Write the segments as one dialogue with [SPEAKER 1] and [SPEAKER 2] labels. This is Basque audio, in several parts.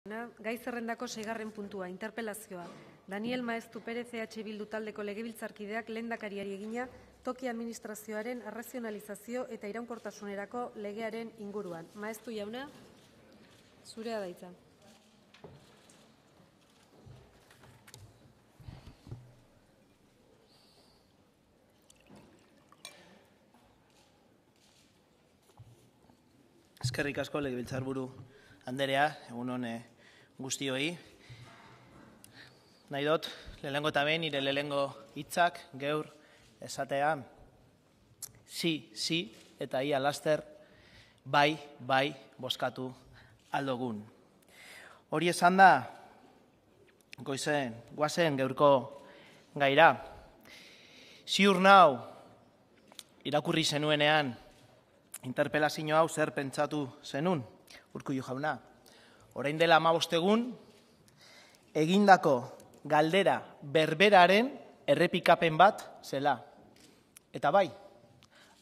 [SPEAKER 1] Gai zerrendako 6. puntua, interpelazioa. Daniel Maeztu Perez EH Bildu taldeko legebiltzarkideak lehendakariari egina toki administrazioaren arrazionalizazio eta iraunkortasunerako legearen inguruan. Maeztu jauna, zurea da hitza.
[SPEAKER 2] Eskerrik asko legebiltzarburu anderea, egun on guztioi. Nahi dut, lehenengo eta behin, nire lehenengo hitzak gaur esatea, si, eta ia laster, bai, bozkatu aldogun. Hori esan da, goazen gaurko gaira. Ziur nau, irakurri zenuenean, interpelazio hau zer pentsatu zenun, Urkullu jauna. Orain dela 15 egun, egindako galdera berberaren errepikapen bat zela. Eta bai,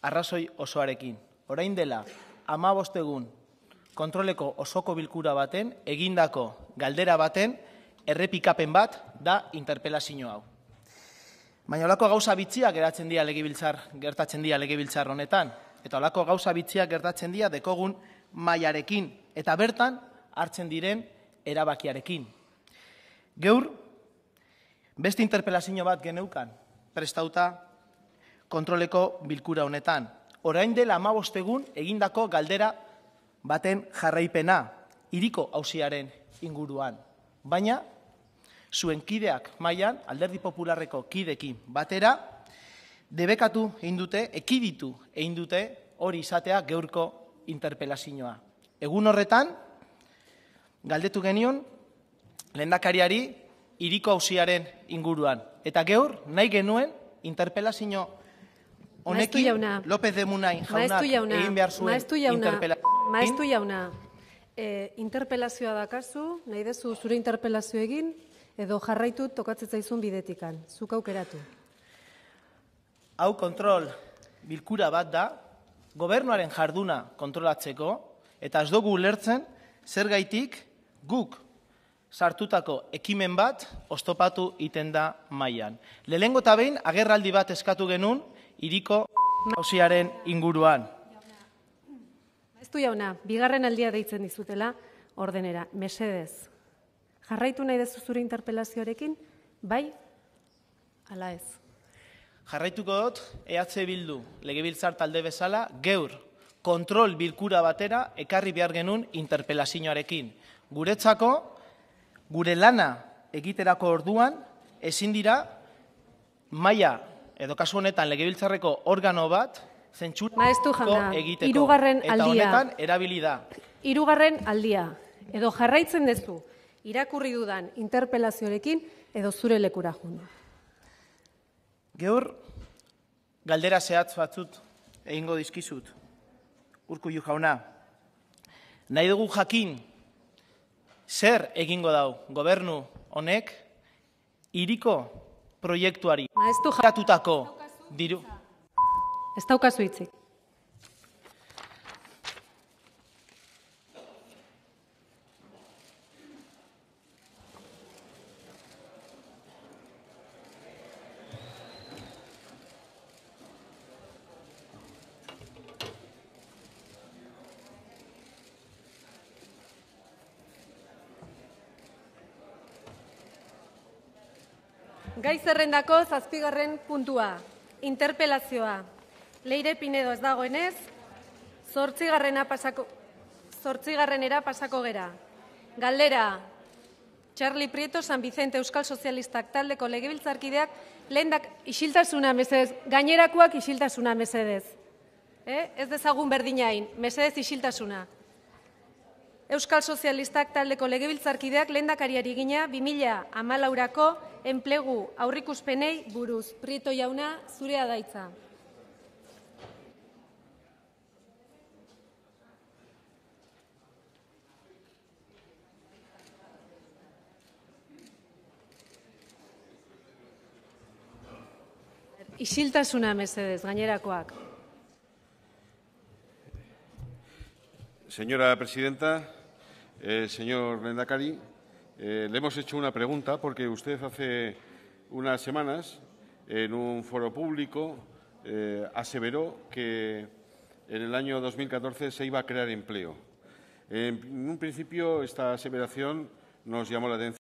[SPEAKER 2] arrazoi osoarekin. Orain dela 15 egun, kontroleko osoko bilkura baten, egindako galdera baten errepikapen bat da interpelazio hau. Baina holako gauza bitxiak gertatzen dira legebiltzar honetan. Eta holako gauza bitxiak gertatzen dira dekogun mailarekin eta bertan hartzen diren erabakiarekin. Gaur, beste interpelazio bat geneukan prestauta kontroleko bilkura honetan. Orain dela 15 egun egindako galdera baten jarraipena, hiriko auziaren inguruan. Baina, zuen kideak mailan, Alderdi Popularreko kidekin batera, debekatu egin dute, ekiditu egin dute hori izatea gaurko interpelazioa. Egun horretan, galdetu genion, lehendakariari hiriko auziaren inguruan. Eta gaur, nahi genuen, interpelazio honekin, López de Munain jaunak egin behar zuen interpelazioa.
[SPEAKER 1] Maeztu jauna, interpelazioa dakazu, nahi dezu zure interpelazio egin, edo jarraitu tokatzen zaizun bidetikan. Zuk aukeratu.
[SPEAKER 2] Hau kontrol bilkura bat da, gobernuaren jarduna kontrolatzeko, eta ez dugu ulertzen zergaitik guk sartutako ekimen bat oztopatu iten da mailan. Lehenengo eta behin agerraldi bat eskatu genuen hiriko auziaren inguruan.
[SPEAKER 1] Maeztu jauna, bigarren aldia deitzen dizutela ordenera, mesedez. Jarraitu nahi dezu zure interpelazioarekin, bai, ala ez.
[SPEAKER 2] Jarraituko dut, EH Bildu legebiltzar talde bezala, gaur kontrol bilkura batera ekarri behar genuen interpelazioarekin. Guretzako, gure lana egiterako orduan, ezin dira maila, edo kasu honetan legebiltzarreko organo bat, zentzurako egiteko. Eta honetan erabili da.
[SPEAKER 1] 3. aldia, edo jarraitzen dezu, irakurri dudan interpelazioarekin, edo zure lekura jundu.
[SPEAKER 2] Gaur, galdera zehatz batzut egingo dizkizut, Urkullu jauna. Nahi dugu jakin, zer egingo dau gobernu honek hiriko proiektuari gatutako diru.
[SPEAKER 1] Ez daukazu hitzik. Gai zerrendako 7. puntua, interpelazioa. Leire Pinedo ez dagoenez, 8. pasako gera. Galdera, Txarli Prieto San Vicente Euskal Sozialistak taldeko legebiltzarkideak lehendak isiltasuna mesedez, gainerakoak isiltasuna mesedez. Ez dezagun berdinain, mesedez isiltasuna. Euskal Sozialistak taldeko legebiltzarkideak lehendakariari egina 2014ko enplegu aurrikuspenei buruz. Prieto jauna, zurea da hitza. Isiltasuna mesedez, gainerakoak.
[SPEAKER 3] Señora presidenta, Señor Lehendakari, le hemos hecho una pregunta porque usted hace unas semanas en un foro público aseveró que en el año 2014 se iba a crear empleo. En un principio esta aseveración nos llamó la atención.